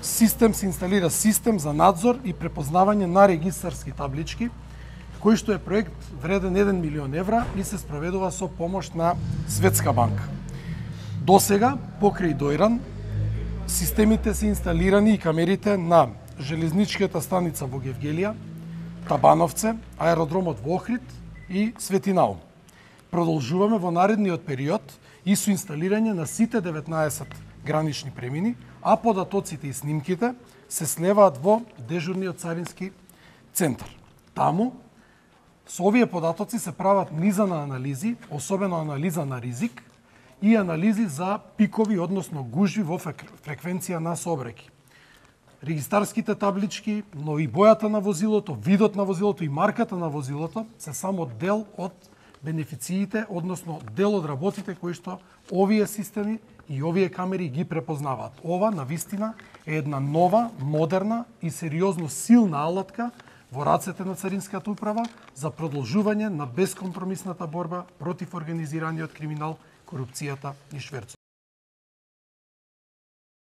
се инсталира систем за надзор и препознавање на регистарски таблички, кој што е проект вреден 1 милион евра и се спроведува со помош на Светска банка. Досега, покрај Дојран, системите се инсталирани и камерите на железничката станица во Гевгелија, Табановце, аеродромот во Охрид и Светинаум. Продолжуваме во наредниот период и со инсталирање на сите 19 гранични премини, а податоците и снимките се слеваат во дежурниот царински центар. Таму, со овие податоци се прават низа на анализи, особено анализа на ризик и анализи за пикови, односно гужви во фреквенција на сообраќај. Регистарските таблички, но и бојата на возилото, видот на возилото и марката на возилото се само дел од бенефициите, односно дел од работите кои што овие системи и овие камери ги препознаваат. Ова, навистина, е една нова, модерна и сериозно силна алатка во рацете на Царинската управа за продолжување на бескомпромисната борба против организираниот криминал, корупцијата и шверцот.